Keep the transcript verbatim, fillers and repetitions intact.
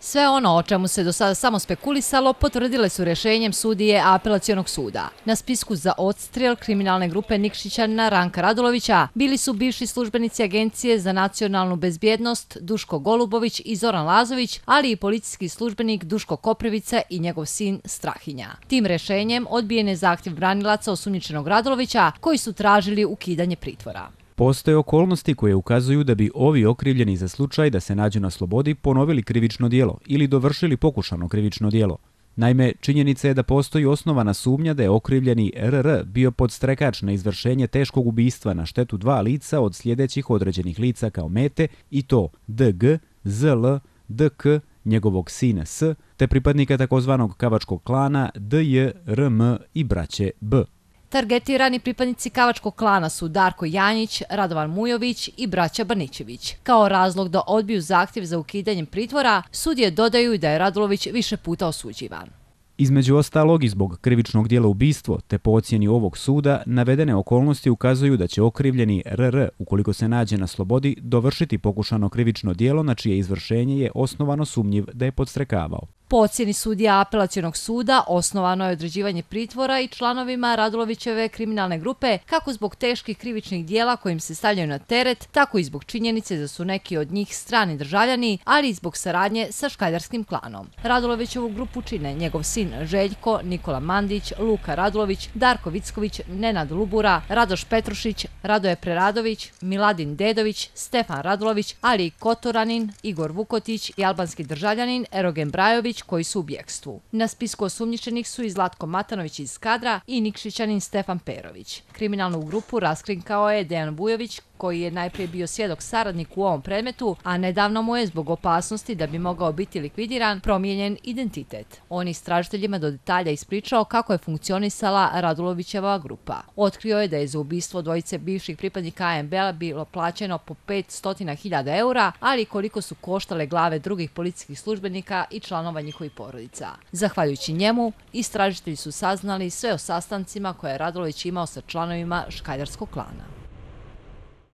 Sve ono o čemu se do sada samo spekulisalo potvrdile su rješenjem sudije Apelacionog suda. Na spisku za odstrel kriminalne grupe Nikšićanina Ranka Radulovića bili su bivši službenici Agencije za nacionalnu bezbjednost Duško Golubović i Zoran Lazović, ali i policijski službenik Duško Koprivica i njegov sin Strahinja. Tim rješenjem odbijen je zahtjev branilaca osumnjičenog Radulovića koji su tražili ukidanje pritvora. Postoje okolnosti koje ukazuju da bi ovi okrivljeni za slučaj da se nađu na slobodi ponovili krivično djelo ili dovršili pokušano krivično djelo. Naime, činjenica je da postoji osnovana sumnja da je okrivljeni R R bio podstrekač na izvršenje teškog ubistva na štetu dva lica od sljedećih određenih lica kao mete, i to D G, Z L, D K, njegovog sina S, te pripadnika takozvanog kavačkog klana D J, R M i braće B. Targetirani pripadnici kavačkog klana su Darko Janjić, Radovan Mujović i braća Banićević. Kao razlog da odbiju zahtjev za ukidanjem pritvora, sudije dodaju da je Radulović više puta osuđivan. Između ostalog i zbog krivičnog djela ubistvo, te po ocjeni ovog suda, navedene okolnosti ukazuju da će okrivljeni R R, ukoliko se nađe na slobodi, dovršiti pokušano krivično djelo na čije izvršenje je osnovano sumnjiv da je podstrekavao. Po ocjeni sudija Apelacionog suda osnovano je određivanje pritvora i članovima Radulovićeve kriminalne grupe kako zbog teških krivičnih dijela kojim se stavljaju na teret, tako i zbog činjenice da su neki od njih strani državljani, ali i zbog saradnje sa škajdarskim klanom. Radulovićevu grupu čine njegov sin Željko, Nikola Mandić, Luka Radulović, Darko Vicković, Nenad Lubura, Radoš Petrušić, Radoje Preradović, Miladin Dedović, Stefan Radulović, ali i Kotoranin, Igor Vukotić i albanski državljanin Erogen Brajović, koji su u bjekstvu. Na spisku osumnjičenih su i Zlatko Matanović iz Skadra i Nikšićanin Stefan Perović. Kriminalnu grupu raskrinkao je Dejan Vujović, koji je najprije bio svjedok saradnik u ovom predmetu, a nedavno mu je zbog opasnosti da bi mogao biti likvidiran promijenjen identitet. On je istražiteljima do detalja ispričao kako je funkcionisala Radulovićeva grupa. Otkrio je da je za ubistvo dvojice bivših pripadnika A M B-a bilo plaćeno po petsto hiljada eura, ali koliko su koštale glave drugih policijskih službenika i članova njihovih porodica. Zahvaljujući njemu, istražitelji su saznali sve o sastancima koje je Radulović imao sa članovima škajdarskog klana.